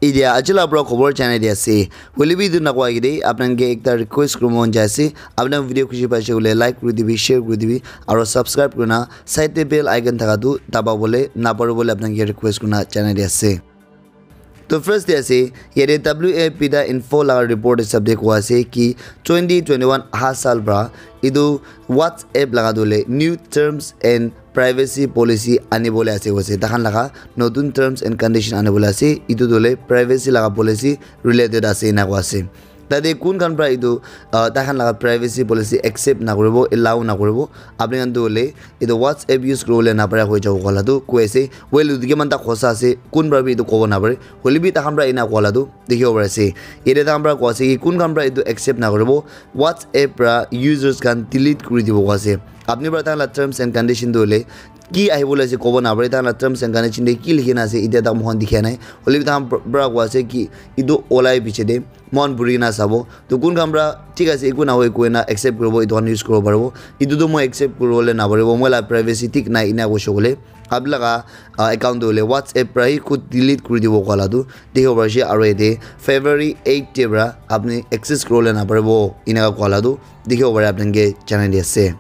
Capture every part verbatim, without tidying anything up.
Etia aji la pura khobor janai di ase. Hoile bi etu nakoa agede apni khan ke ekta request kuribo mon jai ase. Apni khan video khushi paise koile like kuri dibi, share kuri dibi, aro subscribe kurina side te bell icon thaka tu daba bole napari bole apni khan ke request kurina janai di ase. To first te ase, yate W A P da info laga report hisab te koa ase ki twenty twenty-one aha saal pra etu WhatsApp laga tu hoile new terms and privacy policy ani bole ase koise. Takhan laga notun terms and condition ani bole ase. Etu tu hoile privacy laga policy related ase ena koa ase. Tate kun khan pra etu, ah, takhan laga privacy policy accept na kuribo, allow na kuribo. Apni khan tu hoile etu WhatsApp use kuribole napara hoi jabo koa la tu koi ase. Well, etu kiman ta khosa ase, kun pra bi etu kobo napare. Hoile bi takhan pra ena koa la tu dikhibo pari ase. Yate takhan pra koa ase ki kun khan pra etu accept na kuribo. WhatsApp pra users khan delete kuri dibo koa ase. Apni pra takhan la terms and condition tu hoile ki ahibole ase kobo napare, takhan la terms and condition te ki likhi na ase, etia tak moikhan dikha nai. Hoile bi takhan pra koa ase ki etu olai piche te moikhan buri kena sabo. To kun khan pra thik ase, eku nahoi koina accept kuribo, etu khan use kuribo paribo. Etu tu moi accept kuribole naparibo, moi la privacy thik nai ena koise koile. Apni laga, ah, account tu hoile WhatsApp pra hi khud delete kuri dibo koa la tu dikhibo pari ase. Aro yate February eight te pra apni access kuribole naparibo eneka koa la tu dikhibo pari apni khan ke janai di ase.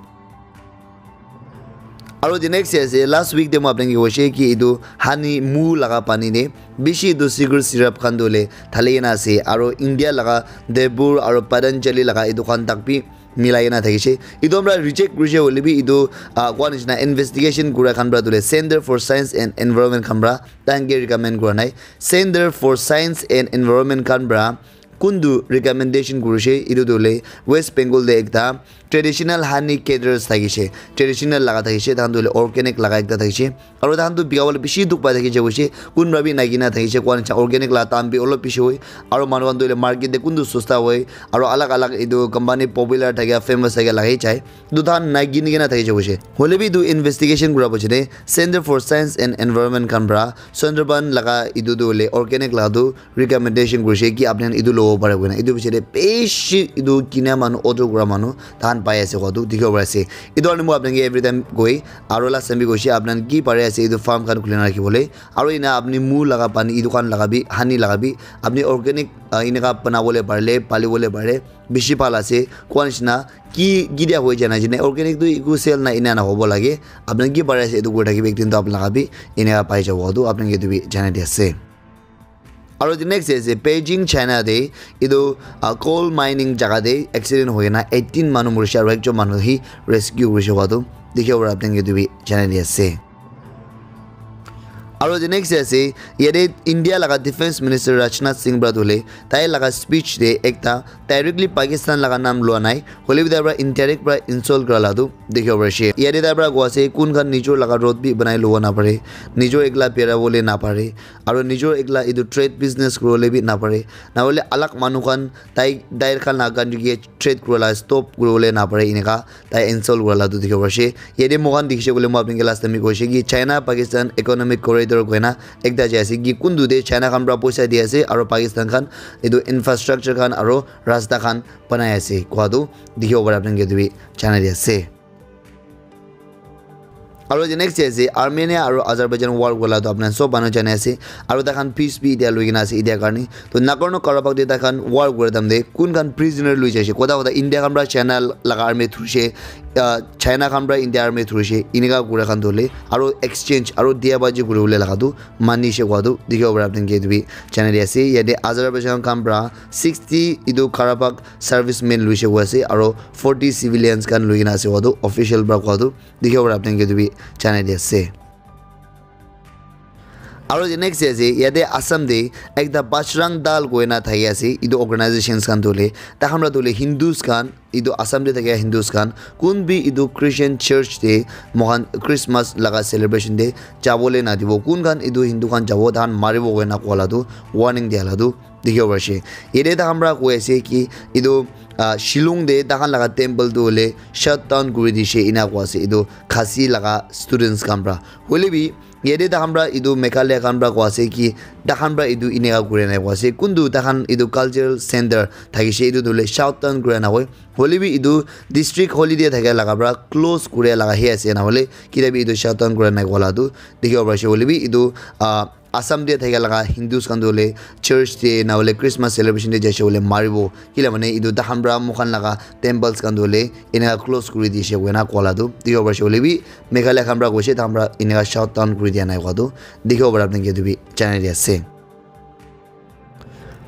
Aro the next ase, last week te moi apni khan ke koise ki etu honey, mu laga pani te bishi etu sugar syrup khan tu hoile thali kena ase. Aro India laga Devur aro Patanjali laga etu khan tak bi milai kena thakise. Etu pra reject kurise hoile bi etu, ah, koa nishina investigation kura khan pra tu hoile Center for Science and Environment khan pra takhan ke recommend kura nai. Center for Science and Environment khan pra kuntu recommendation kurise, etu tu hoile West Bengal te ekta traditional honey caterers thakise, traditional laga thakise, takhan tu hoile organic laga ekta thakise. Aro takhan tu bika bole bishi dukh pai thakise koise, kun pra bi nai kena thakise, koa nishina organic la dam bi olop bishi hoi, aro manu khan tu hoile market te kuntu sosta hoi, aro alag alag etu company popular thakia, famous thakia lagai jai, etu takhan nai kini kena thakise koise. Hoile bi etu investigation kura piche te Center for Science and Environment khan pra Sundarban laga etu tu hoile organic laga tu recommendation kurise ki apni khan etu lobo pare koina. Etu piche te bishi etu kina manu, order kura manu takhan pai ase koa tu dikhibo pari ase. Etu karne moi apni khan ke every time koi, aro last time bi koise, apni khan ki pare ase etu farm khan khuli na rakhibole. Aro ena apni mu laga pani, etu khan laga bi, honey laga bi, apni organic, ah, eneka banabole parile, palibole parile, bishi bhal ase. Koa nishina ki, ki dia hoi jana jine, organic tu eku sale nai ena na hobo lage. Apni khan ki pare ase etu kuri thakibi, ek din tu apni laga bi eneka pai jabo, etu apni khan ke etu bi janai di ase. Aro the next ase Beijing, China te etu, ah, coal mining jaga te accident hoi kena eighteen manu murise aro ekjon manu hi rescue kurise koa tu dikhibo pari apni khan ke etu bi janai di ase. Aro the next ase, yate India laga Defense Minister Rajnath Singh pra tu hoile tai laga speech te ekta directly Pakistan laga naam lua nai, hoile bi tai pra indirect pra insult kura la tu dikhibo pari ase. Yate tai pra koa ase kun khan nijor laga road bi banai lobo napare, nijor ekla bera bole napare, aro nijor ekla etu trade business kuribole bi napare, nahoile alag manu khan tai, tai khan laga country ke trade kuribole stop kuribole napare, eneka tai insult kura la tu dikhibo pari ase. Yate moikhan dikhi se koile moi apni khan ke last time bi koise ki China Pakistan Economic Corridor koina ekta jai ase ki kuntu te China khan pra poisa di ase aro Pakistan khan etu infrastructure khan aro rasta khan banai ase koa tu dikhibo pari apni khan ke etu bi janai di ase. Aro the next day ase Armenia aro Azerbaijan war kura la tu apni khan sob manu jani ase. Aro tai khan peace bi etia loi kena ase etia karne. To Nagorno Karabakh te tai khan war kura time te kun khan prisoner loi jaise. Kotha kotha India khan pra China laga army thurise, ah, China khan pra India army thurise. Eneka kura khan tu hoile aro exchange aro dia baji kuri bole laga tu mani se koa tu dikhibo pare apni khan ke etu bi janai di ase. Yate Azerbaijan khan pra sixty etu Karabakh servicemen loise koi ase aro forty civilians khan loi kena ase koa tu official pra koa tu dikhibo pare apni khan ke etu bi janai di ase. Aro the next day ase yate Assam te ekta Bajrang Dal koina thaki ase etu organizations khan tu hoile tai khan pra tu hoile Hindus khan etu Assam te thakia Hindus khan kun bi etu Christian church te moikhan Christmas laga celebration te jabole nadibo, kun khan etu Hindu khan jabo tai khan maribo koina koa la tu warning dia la tu dikhibo pari ase. Yate tai khan pra koi ase ki etu, ah, Shillong te tai khan laga temple tu hoile shut down kuri dise ena koi ase etu Khasi laga students khan pra. Hoile bi Yate takhan pra etu Meghalaya khan pra koa ase ki takhan pra etu eneka kuri na koa ase. Kuntu takhan etu cultural center thakishe, etu tu hoile shutdown kuri na koi. Hoile bi etu district holiday thaka laga pra close kuri laga he ase, na hoile kita bi etu shutdown kuri na koa la tu dikhibo pari ase. Hoile bi etu, ah, Assam te thaka laga Hindus khan tu hoile church te na hoile Christmas celebration te jaise hoile maribo. Kila mane etu takhan pra moikhan laga temples khan tu hoile eneka close kuri dishe koina koa la tu dikhibo pari ase. Hoile bi Meghalaya khan pra koishe, takhan pra eneka shutdown kuri dia nai koa tu dikhibo pari apni khan ke etu bi janai di ase.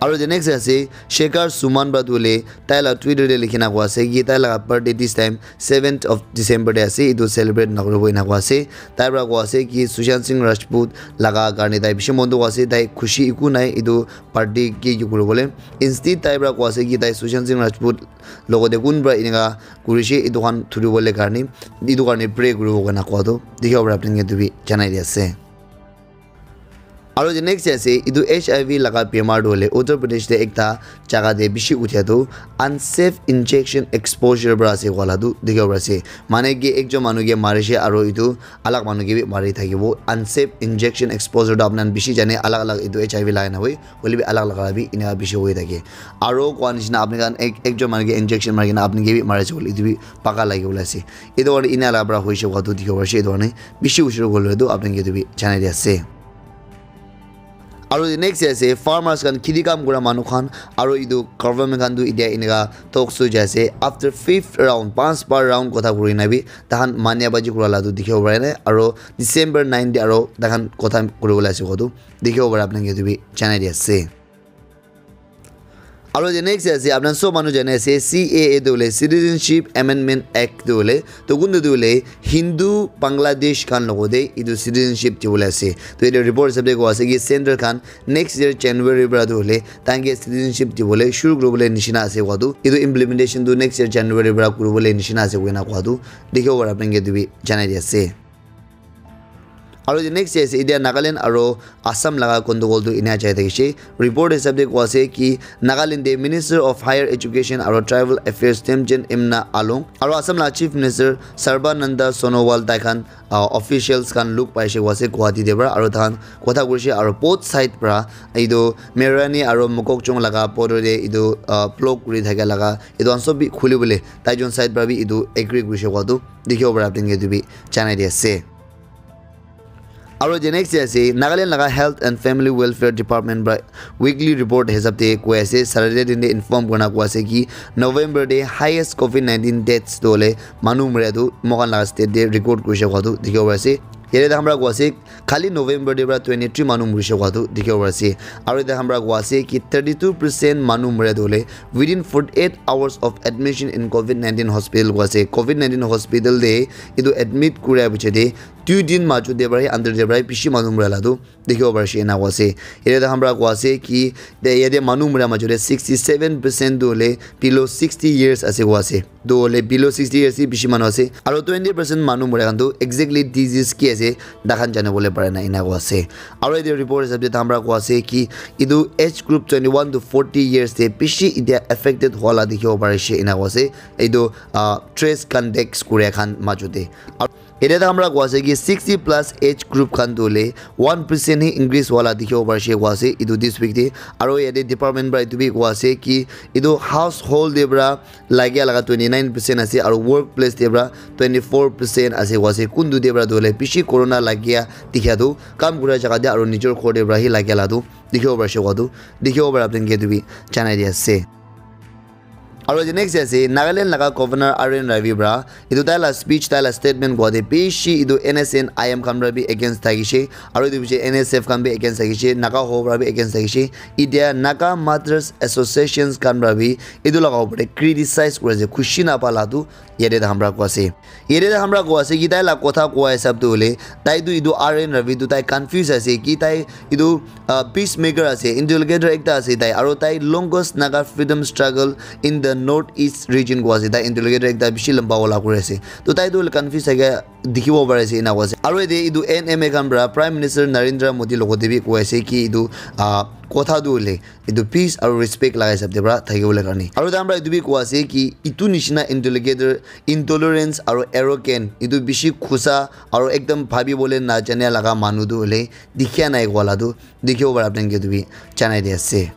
Aro the next ase, Shekhar Suman pra tu hoile tai la Twitter te likhina koa ase ki tai laga birthday this time seventh of December te ase, etu celebrate nakuribo ena koa ase. Tai pra koa ase ki Sushant Singh Rajput laga karne tai bishi mon dukh ase, tai khushi eku nai etu party ki ki kuribole. Instead tai pra koa ase ki tai Sushant Singh Rajput logote kun pra eneka kurishe, etu khan thuribole karne, etu karne pray kuribo koina koa tu dikhibo pari apni khan ke etu bi janai di ase. Aro the next ase, etu H I V laga bemar tu hoile Uttar Pradesh te ekta jaga te bishi uthia tu unsafe injection exposure pra ase koa la tu dikhibo pari ase. Mane ki ekjon manu ke marishe aro etu alag manu ke bi mari thakibo. Unsafe injection exposure tu apni khan bishi jane, alag alag etu H I V laga na hoi, hoile bi alag laga bi eneka bishi hoi thake. Aro koa nishina apni khan ek, ekjon manu ke injection mari kena apni ke bi mari ase koile etu bi paka lagi bole ase. Etu karne ena laga pra hoishe koa tu dikhibo pari ase. Etu karne bishi usur kole tu apni khan ke etu bi janai di ase. Aro the next ase farmers khan, kheti kam kura manu khan, aro etu government khan tu etia eneka talks tu jai ase. After fifth round, panch bar round kotha kuri na bi takhan mania baji kura la tu dikhibo pare nai. Aro December nine te aro takhan kotha kuribole ase koa tu dikhibo pare apni khan ke etu bi janai di ase. Aro the next ase, apni khan sob manu jane ase, C A A tu hoile Citizenship Amendment Act tu hoile, to kuntu tu hoile Hindu Bangladesh khan logote etu citizenship dibole ase. To etu report hisab te koa ase ki center khan next year January pra tu hoile tanke citizenship dibole shuru kuribole nishina ase koa tu. Etu implementation tu next year January pra kuribole nishina ase koina koa tu dikhibo pare apni khan ke etu bi janai di ase. Aro the next day ase, etia Nagaland aro Assam laga gondogol tu ena jai thakishe. Report hisab te koa ase ki Nagaland te Minister of Higher Education aro Tribal Affairs Temjen Imna Along aro Assam laga Chief Minister Sarbananda Sonowal tai khan, ah, officials khan log paishe koa ase Guwahati te pra, aro takhan kotha kurishe aro both side pra etu Mairani aro Mokokchung laga border te etu, ah, block kuri thaka laga etu khan sob bi khuli bole tai jon side pra bi etu agree kurishe koa tu dikhibo pare apni khan ke etu bi janai di ase. Aro the next day ase, Nagaland laga Health and Family Welfare Department pra weekly report hisab te koi ase, Saturday din te inform kurina koi ase ki November te highest covid nineteen deaths tu hoile manu mura tu moikhan laga state te record kurishe koa tu dikhibo pari ase. Yate takhan pra koi ase, khali November te pra twenty three manu murishe koa tu dikhibo pari ase. Aro yate takhan pra koi ase ki thirty two percent manu mura tu hoile within forty eight hours of admission in covid nineteen hospital koi ase. Covid nineteen hospital te etu admit kura piche te dui din majot te pra hi under te pra hi bishi manu mura la tu dikhibo pari ase ena koi ase. Yate takhan pra koi ase ki de yate manu mura majot te sixty seven percent tu hoile below sixty years ase koi ase. Tu hoile below sixty years hi bishi manu ase. Aro twenty percent manu mura khan tu exactly disease ki ase takhan jani bole pare na ena koi ase. Aro yate report hisab te takhan pra koi ase ki etu age group twenty one to forty years te bishi etia affected hua la dikhibo pari ase ena koi ase. Etu, ah, trace contacts kuria khan majot te. Aro yate takhan pra koi ase ki sixty plus age group khan tu hoile one percent hi increase hua la dikhibo pari ase koi ase etu this week te. Aro yate department pra etu bi koi ase ki etu household te pra lagia laga twenty nine percent ase aro workplace te pra twenty four percent ase koi ase. Kuntu te pra tu hoile bishi corona lagia dikhia tu kam kura jaga te aro nijor ghor te pra hi lagia la tu dikhibo pari ase koi tu dikhibo pare apni khan ke etu bi janai di ase. Aro the next ase Nagaland laga Governor R N Ravi pra etu tai la speech, tai la statement kua te bishi etu N S N I M khan pra bi against thakishe, aro etu bishi N S F khan bi against thakishe, Naga Hoho pra bi against thakishe. Etia Naga Mothers Associations khan pra bi etu laga upor te criticize kuri ase, khushi napa la tu yate takhan pra kua ase. Yate takhan pra kua ase ki tai la kotha kua hisab tu hoile, tai tu etu R N Ravi tu tai confuse ase ki tai etu, ah, peacemaker ase, interlocutor ekta ase tai, aro tai longest Naga freedom struggle in the North East region koi ase, tai interlocutor ekta bishi lamba wala kuri ase. To tai tu hoile confuse thake dikhibo pari ase ena koi ase. Aru yate etu N M A khan para Prime Minister Narendra Modi logote bi koi ase ki etu ah, kotha tu hoile etu peace aru respect laga hisab te para thakibole karne. Aru tai khan para etu bi koi ase ki etu nishina interlocutor, intolerance aru arrogant, etu bishi khusa aru ekdam bhabibole najane laga manu tu hoile dikhiya nai koa la tu dikhibo para apni khan ke etu bi janai di ase.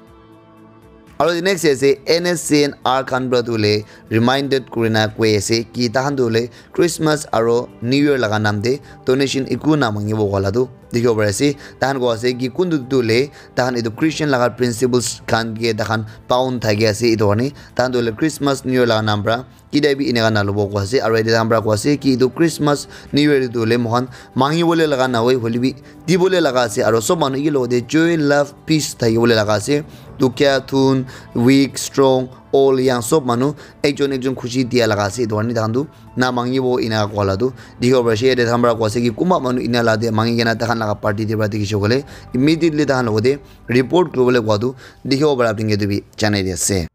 Aru the next ase N S C N R khan para tu hoile reminded kurina koi ase ki tahan tu hoile Christmas aru New Year laga naam te donation eku na mangibo koa la tu dikhibo pari ase. Tahan koi ase ki kuntu tu hoile tahan etu Christian laga principles khan ke tahan bound thaki ase etu karne tahan tu hoile Christmas New Year laga naam para kida bi eneka na lobo koi ase. Aru yate tahan para koi ase ki etu Christmas New Year tu hoile moikhan mangibole laga na hoi hoile bi dibole laga ase. Aru sob manu ekelogte joy, love, peace thakibole laga ase. Dukhia, thun, weak, strong, all yang sob manu ekjon ekjon khushi dia laga ase. Etu karne tahan tu na mangibo ena koa la tu dikhibo pari ase. Yate tahan para koi ase ki kunba manu ena la te mangi kena tahan laga party te para dikhi se koile immediately tahan logote report kuribole koa tu dikhibo para apni khan ke etu bi janai di ase.